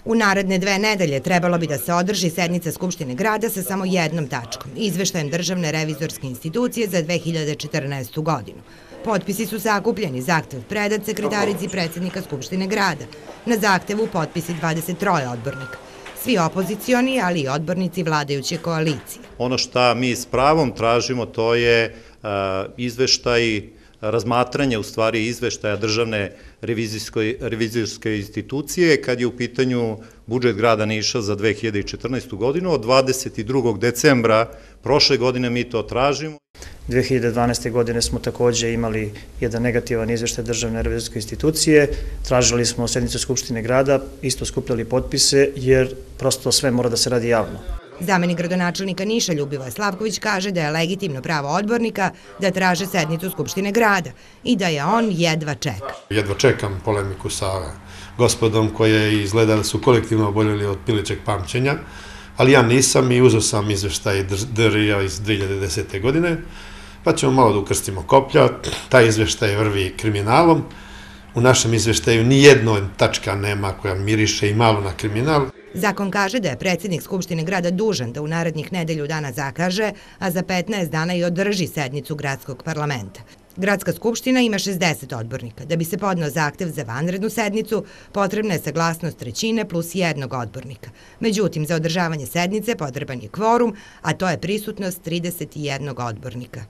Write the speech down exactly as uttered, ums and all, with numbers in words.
U naredne dve nedelje trebalo bi da se održi sednica Skupštine grada sa samo jednom tačkom, izveštajem Državne revizorske institucije za dve hiljade četrnaestu godinu. Potpisi su sakupljeni, zahtev predat sekretarici predsjednika Skupštine grada. Na zahtevu potpisi dvadeset troje odbornika. Svi opozicioni, ali i odbornici vladajuće koalicije. Ono što mi s pravom tražimo, to je izveštaj, razmatranje u stvari izveštaja Državne revizorske institucije kad je u pitanju budžet grada Niša za dve hiljade četrnaestu godinu. Od dvadeset drugog decembra prošle godine mi to tražimo. dve hiljade dvanaeste. godine smo takođe imali jedan negativan izveštaj Državne revizorske institucije, tražili smo sednicu Skupštine grada, isto skupljali potpise jer prosto sve mora da se radi javno. Zamenik gradonačelnika Niša Ljubivoje Slavković kaže da je legitimno pravo odbornika da traže sednicu Skupštine grada i da je on jedva čeka. Jedva čekam polemiku sa gospodom koje izgleda da su kolektivno oboljeli od pilićeg pamćenja, ali ja nisam i uzeo sam izveštaj D R I-a iz dve hiljade desete. godine, pa ćemo malo da ukrstimo koplja. Taj izveštaj vrvi kriminalom. U našem izveštaju ni jedna tačka nema koja miriše i malo na kriminal. Zakon kaže da je predsjednik Skupštine grada dužan da u narednih nedelju dana zakaže, a za petnaest dana i održi sednicu gradskog parlamenta. Gradska skupština ima šezdeset odbornika. Da bi se podneo zahtev za vanrednu sednicu, potrebna je saglasnost trećine plus jednog odbornika. Međutim, za održavanje sednice potreban je kvorum, a to je prisutnost trideset jednog odbornika.